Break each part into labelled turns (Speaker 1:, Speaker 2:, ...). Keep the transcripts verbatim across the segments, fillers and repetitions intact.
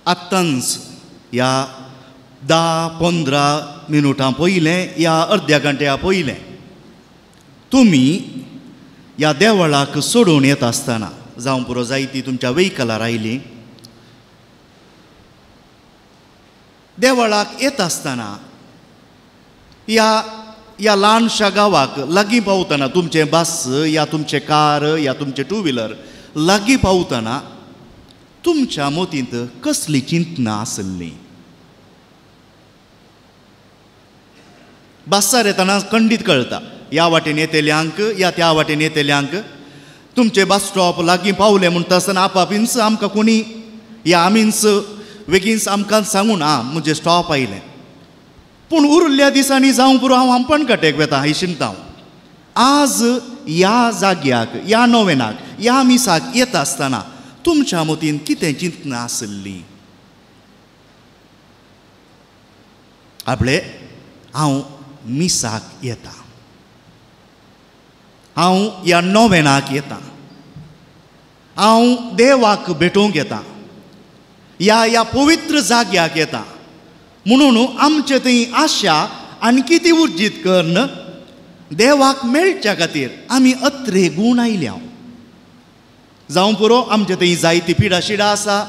Speaker 1: आत्तांच ह्या धा पंदरा मिनुटां पयलें या अर्द्या घंट्या पयलें तुमी ह्या देवळाक सोडून येता आसतना जावं पुरो जायती तुमच्या वेहिकलार आयली देवळाक येता आसतना ह्या ह्या ल्हानशा गांवाक लागीं पावतना तुमचें बस या तुमचें कार या तुमचें टू व्हिलर लागीं पावतना तुमच्या मतींत कसली चिंतना आसली? बसार येतना खंडीत कळटा ह्या वाटेन येतल्यांक या त्या वाटेन येतल्यांक तुमचे बस स्टॉप लागीं पावले म्हणटा आसतना आपापींच आमकां कोणी या आमींच वेगींच आमकां सांगून आं म्हजें स्टॉप आयलें. पूण उरिल्ल्या दिसांनी जावं पुरो हांव आंपणकाटेक वेता ही चिंता हांव. आज ह्या जाग्याक ह्या नोवेनाक ह्या मिसाक येता आसतना तुमच्या मतीन कितें चिंतना आसली? आपले हांव मिसाक येता, हांव ह्या नोवेनाक येता, हांव देवाक भेटोवंक येता, ह्या ह्या पवित्र जाग्याक येता म्हणून आमचे थंय आशा आणखी ती उर्जीत करून देवाक मेळच्या खातीर आमी अत्रे गूण आयल्या. जावं पुरो आमचे थंय जायती पिडा शिडा आसा,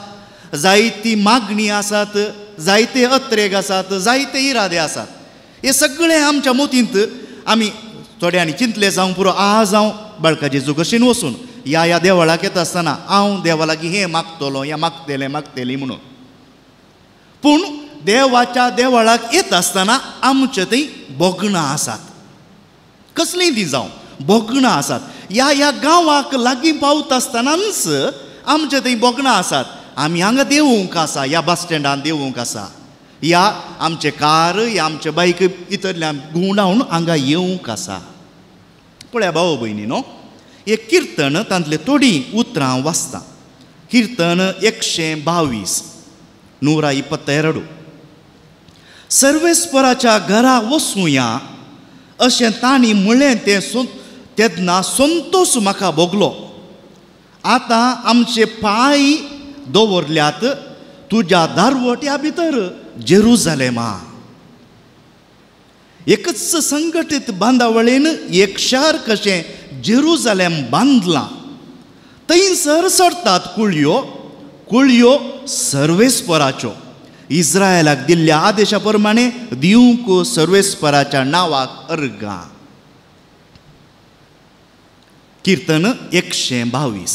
Speaker 1: जायती मागणी आसात, जायते अत्रेग आसात, जायते इरादे आसात. हे सगळे आमच्या मतींत आमी थोड्यांनी चिंतले जावं पुरो आज हांव बाळका जेजू कशीन वचून ह्या ह्या देवळाक येता आसतना हांव देवा लागीं हें मागतलो या मागतलें मागतली म्हणून. पूण देवाच्या देवळाक येता आसतना आमचे थंय भोगणां आसात. कसलीं तीं जावं भोगणां आसात. ह्या ह्या गांवाक लागीं पावता आसतनाच आमचे थंय भोगणां आसात. आमी हांगा देवूंक आसा, ह्या बस स्टँडान देवूंक आसा, ह्या आमचें कार ह्या आमचें बायक इतल्यान घुंवडावन हांगा येवंक आसा. पळया भाव भयणी न्हू, एक किर्तन तांतले थोडीं उतरां वाचता. किर्तन एकशें बावीस नूरा इपत्तेरडू. सर्वेस्पराच्या घरा वचुया अशें तांणी म्हणलें तें तेन्ना संतोश म्हाका भोगलो. आतां आमचे पांय दवरल्यात तुज्या दारवट्या भितर जेरुजालेमा. एकच संघटीत बांदावळीन एक शार कशें जेरुजालेम बांदलां. थंयसर सरतात कुळयो, कुळयो सर्वेस्पराच्यो. इस्रायलाक दिल्ल्या आदेशा प्रमाणे दिवंक सर्वेस्पराच्या नांवाक अर्गां. किर्तन एकशें बावीस.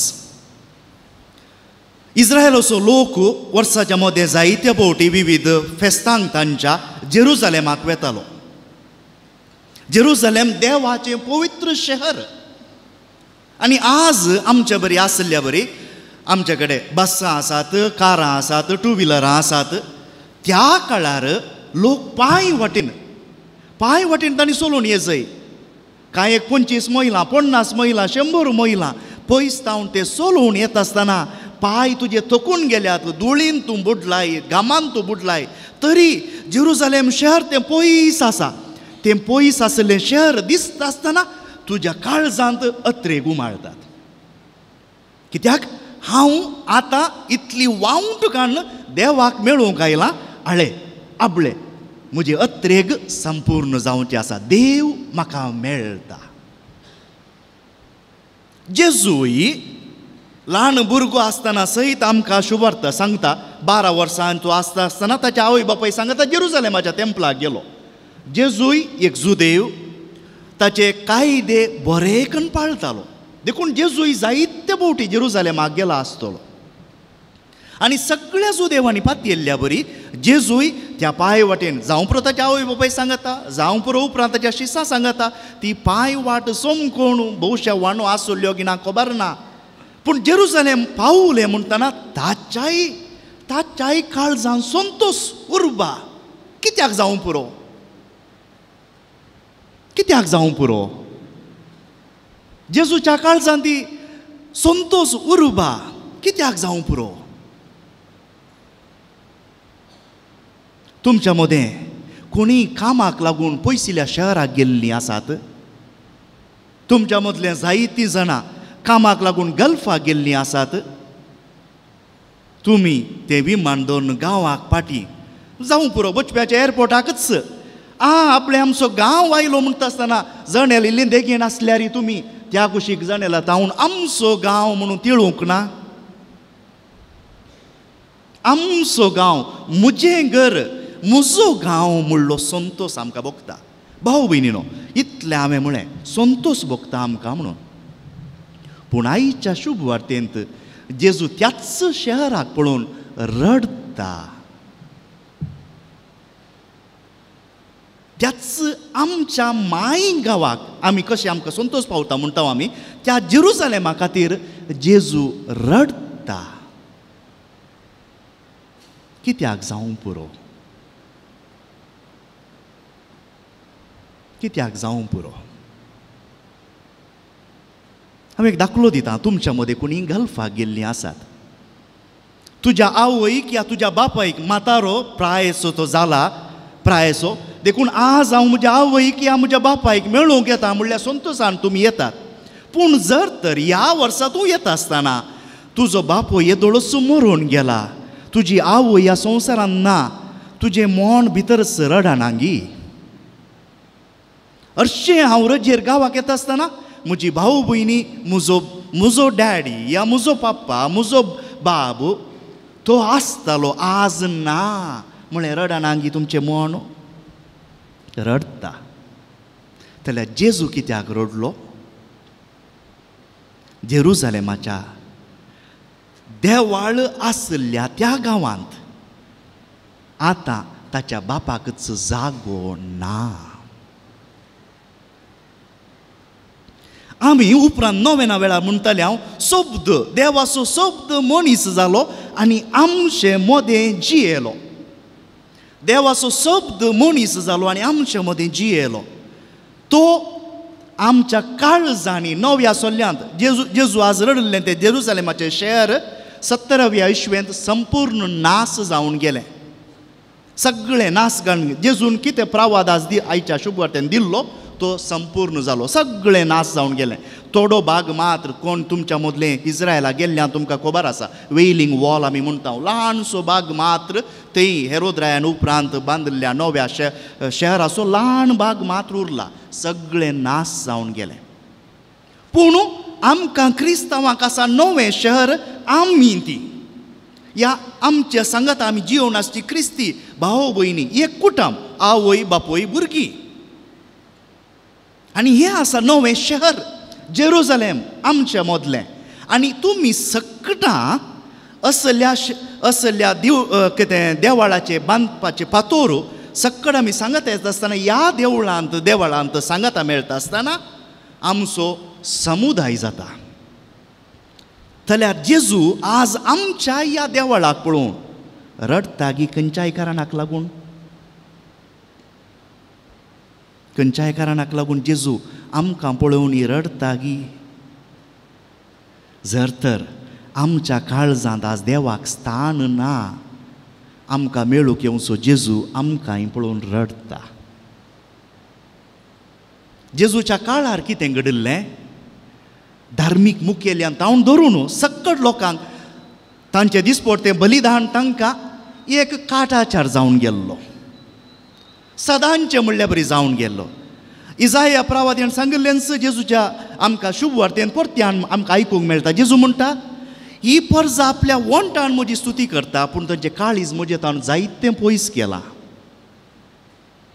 Speaker 1: इस्रायलाचो लोक वर्साच्या मदें जायते फावटी विविध फेस्तांक तांच्या जेरुजालेमाक वेतालो. जेरुजालेम देवाचें पवित्र शहर. आनी आज आमच्या बरी आसल्या बरी आमचे कडेन बसां आसात, कारां आसात, टू व्हिलरां आसात. त्या काळार लोक पांय वाटेन पांय वाटेन तांणी चलोवन येजय. कांय एक पंचवीस मैलां, पन्नास मैलां, शंबर मैलां पयस तावन ते चलोवन येता आसतना पांय तुजे थकून गेल्यात, धुळीन तूं बुडलाय, घामान तूं बुडलाय, तरी जेरुजालेम शहर तें पयस आसा. तें पयस आसलें शहर दिसता आसतना तुज्या काळजांत अत्रेग उमाळतात. कित्याक हांव आतां इतली वावंट काडून देवाक मेळोवंक आयलां. आळे आबळे म्हजी अत्रेग संपूर्ण जावची आसा, देव म्हाका मेळटा. जेजूय ल्हान भुरगो आसतना सयत आमकां शुभर्त सांगता. बारा वर्सां तो आसता आसतना ताच्या आवय बापाय सांगता जेरुजालेमाच्या तेंपलाक गेलो. जेजूय एक जुदेव, ताचे कायदे बरेकन पाळटालो. देखून जेजूय जायते फावटी जेरुजालेमाक गेला आसतलो. आनी सगळ्या जुदेवांनी पातयेल्ल्या बरी जेजूय त्या पांय वाटेन जावं पुरो ताच्या आवय बापाय सांगता, जावं पुरो उपरांत ताच्या शिसां सांगता. ती पांय वाट सोमकोण भोवशा वाणो आसल्यो की ना खबर ना, पूण जेरुजालेम पावलें म्हणटना ताच्याय ताच्याय काळजान संतोश उर्बा. कित्याक जावं पुरो, कित्याक जावं पुरो जेजूच्या काळजान ती संतोश उर्बा कित्याक जावं पुरो? तुमच्या मदें कोणी कामाक लागून पयसिल्या शहराक गेल्लीं आसात? तुमच्या मदलें जायतीं जाणां कामाक लागून गल्फाक गेल्लीं आसात? तुमी तें विमान दवरून गांवाक पाटी जावं पुरो बचप्याच्या एअरपोर्टाकच आ आपले आमचो गांव आयलो म्हणटा आसतना जणेल इल्ली देगेन आसल्यार तुमी त्या कुशीक जणेला तावन आमचो गांव म्हणून तिळूंक ना. आमचो गांव म्हजें घर म्हजो गांव म्हणलो संतोस आमकां भोगता. भाव भयणीनो इतलें हांवें म्हळें संतोस भोगता आमकां म्हणून. पूण आयच्या शुभ वार्तेंत जेजू त्याच शहराक पळोवन रडटा. त्याच आमच्या माय गांवाक आमी कशें आमकां संतोस पावता म्हणटा आमी त्या जेरुजालेमा खातीर जेजू रडटा. कित्याक जावं पुरो, कित्याक जावं पुरो. हांव एक दाखलो दिता. तुमच्या मदें कोणी गल्फाक गेल्लीं आसात, तुज्या आवयक या तुज्या बापायक म्हातारो प्रायसो तो जाला प्रायसो देखून आज हांव म्हज्या आवयक या म्हज्या बापायक मेळूंक येता म्हणल्यार संतोसान तुमी येतात. पूण जर तर ह्या वर्सा तूं येता आसतना तुजो बापूय येदोळच मरून गेला, तुजी आवय ह्या संवसारान ना, तुजें मन भितरच रडना गी. हरशीं हांव रजेर गांवाक येता आसतना म्हजी भाव भयणी म्हजो म्हजो डॅडी या म्हजो पप्पा म्हजो बाब तो आसतालो आज ना म्हळें रडना गी तुमचें मन रडटा. जाल्यार जेजू कित्याक रडलो? जेरुजालेमाच्या देवाळ आसल्या त्या गांवांत आतां ताच्या बापाकच जागो ना. आमी उपरांत नोवेना वेळार म्हणटाले हांव शब्द देवाचो शब्द मनीस जालो आनी आमचे मदें जियेलो. देवाचो शब्द मनीस जालो आनी आमचे मदें जियेलो. तो आमच्या काळजांनी नव्या सोल्यांत जेजू जेजू आज रडलें तें जेरुजालेमाचें शहर सत्तराव्या इस्वेंत संपूर्ण नास जावन गेलें. सगळें नास घालून जेजून कितें प्रवाद आज दी आयच्या शुभ वार्तेन दिल्लो तो संपूर्ण जालो, सगळें नास जावन गेलें. थोडो भाग मात्र कोण तुमच्या मदलें इस्रायला गेल्ल्यान तुमकां खबर आसा वेलिंग वॉल आमी म्हणटा ल्हानसो भाग मात्र थंय हेरोद रायान उपरांत बांदिल्ल्या नव्या शहराचो ल्हान भाग मात्र उरला, सगळें नास जावन गेलें. पूण आमकां क्रिस्तांवांक आसा नवें शहर आमी ती ह्या आमच्या सांगाता आमी जियोवन आसची क्रिस्ती भाव भयणी एक कुटुंब आवय बापूय भुरगीं आनी हें आसा नवें शहर जेरुजालेम आमच्या मदलें. आनी तुमी सकटां असल्या असल्या देव कितें देवळाचें बांदपाचें फातोर सकट आमी सांगत येता आसतना ह्या देवळांत देवळांत सांगाता मेळटा आसतना आमचो समुदाय जाता. जाल्यार जेजू आज आमच्या ह्या देवळाक पळोवन रडटा गी खंयच्याय कारणाक लागून, खंयच्याय कारणाक लागून जेजू आमकां पळोवन रडटा गी. जर तर आमच्या काळजांत आज देवाक स्थान ना, आमकां मेळूंक येवचो जेजू आमकांय पळोवन रडटा. जेजूच्या काळार कितें घडिल्लें? धार्मीक मुखेल्यान तावन धरून सकट लोकांक तांचे दिसपडतें बलिदान तांकां एक काटाचार जावन गेल्लो, सदांचें म्हणल्यार बरी जावन गेल्लो. इजाया प्रवाद्यान सांगिल्लेंच जेजूच्या आमकां शुभ वार्तेन परत्यान आमकां आयकूंक मेळटा. जेजू म्हणटा ही परजा आपल्या वंटान म्हजी स्तुती करता पूण तांचें काळीज म्हजें ताण जायतें पयस केलां.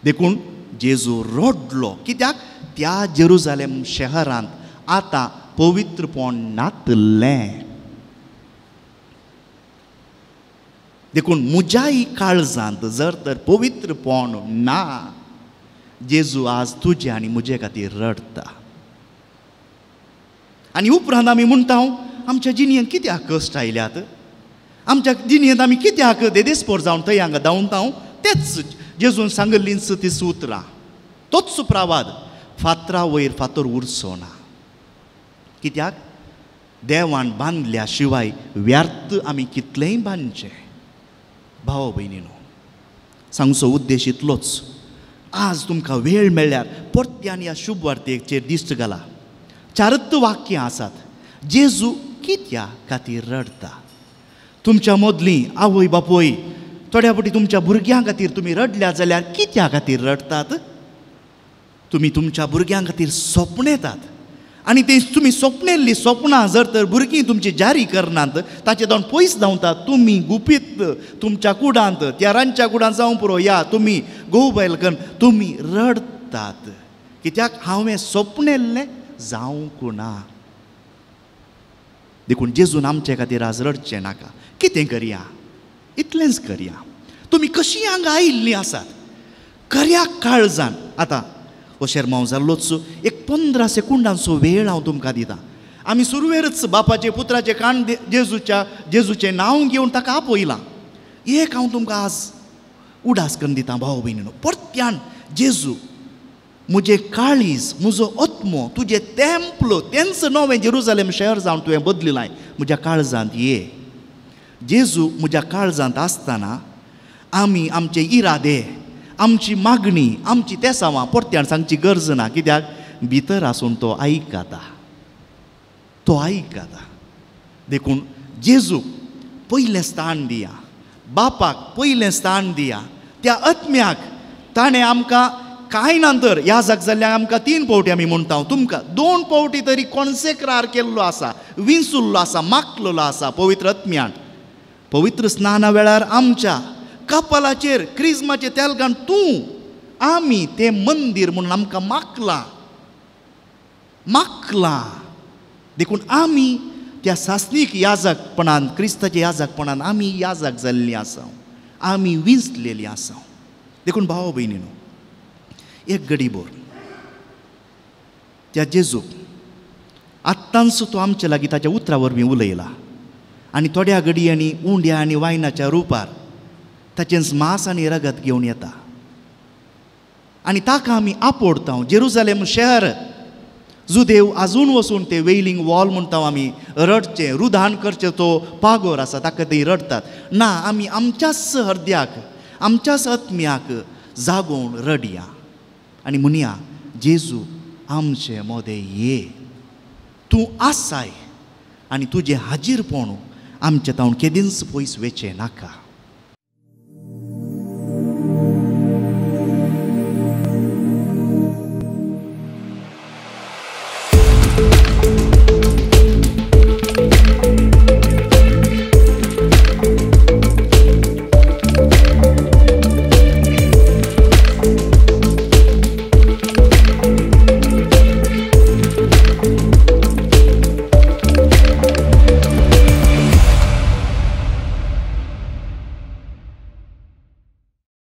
Speaker 1: देखून जेजू रडलो. कित्याक? त्या जेरुजालेम शहरांत आतां पवित्रपण नातलें. देखून म्हज्याय काळजांत जर तर पवित्रपण ना, जेजू आज तुजे आनी म्हजे खातीर रडटा. आनी उपरांत आमी म्हणटा आमच्या जिणेंत कित्याक कश्ट आयल्यात, आमच्या जिणेंत आमी कित्याक देदेस्पोर जावन थंय हांगा धांवता. तेच जेजून सांगिल्लींच ती उतरां, तोच प्रवाद, फातरा वयर फातर उरचो ना. कित्याक? देवान बांदल्या शिवाय व्यर्थ आमी कितलेंय बांदचें. भाव भयणीनो, सांगचो उद्देश इतलोच, आज तुमकां वेळ मेळ्ळ्यार परत्यान ह्या शुभ वार्तेचेर दिश्ट घाला. चारत वाक्यां आसात. जेजू कित्या खातीर रडटा? तुमच्या मदली आवय बापूय थोड्या फावटी तुमच्या भुरग्यां खातीर तुमी रडल्या जाल्यार कित्या खातीर रडटात? तुमी तुमच्या भुरग्यां खातीर सपनेतात आनी ते तुमी सपनेल्ली सपनां जर तर भुरगीं तुमची जारी करनात, ताचे जावन पयस धांवतात, तुमी गुपीत तुमच्या कुडांत, त्या रांदच्या कुडांत जावं पुरो, या तुमी घोव बायल कन्न तुमी रडटात कित्याक हांवें सपनेल्लें जावंक ना. देखून जेजून आमचे खातीर आज रडचें नाका. कितें करया? इतलेंच करया. तुमी कशीं हांगा आयिल्लीं आसात खऱ्या काळजान. आतां हो शेरमांव जाल्लोच एक पंदरा सेकुंडांचो वेळ हांव तुमकां दितां. आमी सुरवेरच बापाचे पुत्राचे कान जेजूच्या जेजूचें नांव घेवन ताका आपयलां. एक हांव तुमकां आज उडास करून दितां भाव भयणीनो, परत्यान जेजू म्हजें काळीज, म्हजो आत्मो, तुजें तेंपल, तेंच नवें जेरुजालेम शहर जावन तुवें बदलिलां, म्हज्या काळजांत ये. जेजू म्हज्या काळजांत आसतना आमी आमचे इरादे, आमची मागणी, आमची तेसावां परत्यान सांगची गरज ना, कित्याक भितर आसून तो आयकता, तो आयकता. देखून जेजूक पयलें स्थान दिया, बापाक पयलें स्थान दिया, त्या आत्म्याक ताणें आमकां कांय ना तर याजक जाल्ल्याक आमकां तीन पावटी आमी म्हणटा, तुमकां दोन पावटी तरी कॉन्सेक्रार केल्लो आसा, विंचुल्लो आसा, मागलेलो आसा पवित्र आत्म्यान. पवित्र स्नाना वेळार आमच्या कपालाचेर क्रिज्माचें तेल घालून तूं आमी तें मंदीर म्हणून आमकां मागलां, मागलां. देखून आमी त्या सासणीक याजकपणान, क्रिस्ताच्या याजकपणान आमी याजक जाल्लीं आसा, आमी विंचलेलीं आसा. देखून भाव भयणीनो, एक गडीभर त्या जेजूक आत्तांचो तो आमचे लागीं ताच्या उतरा वरवीं उलयला आनी थोड्या घडयांनी उंड्या आनी वायनाच्या रुपार ताचेंच मांस आनी रगत घेवन येता आनी ताका आमी आपोडता. जेरुजालेम शहर जुदेव आजून वचून ते वेलिंग वॉल म्हणटा आमी, रडचें रुदान करचें तो पागोर आसा ताका ते रडटात. ना, आमी आमच्याच हृदयाक, आमच्याच आत्म्याक जागोवन रडया आनी म्हणया, जेजू आमचे मोदें ये, तूं आसाय आनी तुजें हाजीरपण आमचे तावन केदींच पयस वेचें नाका.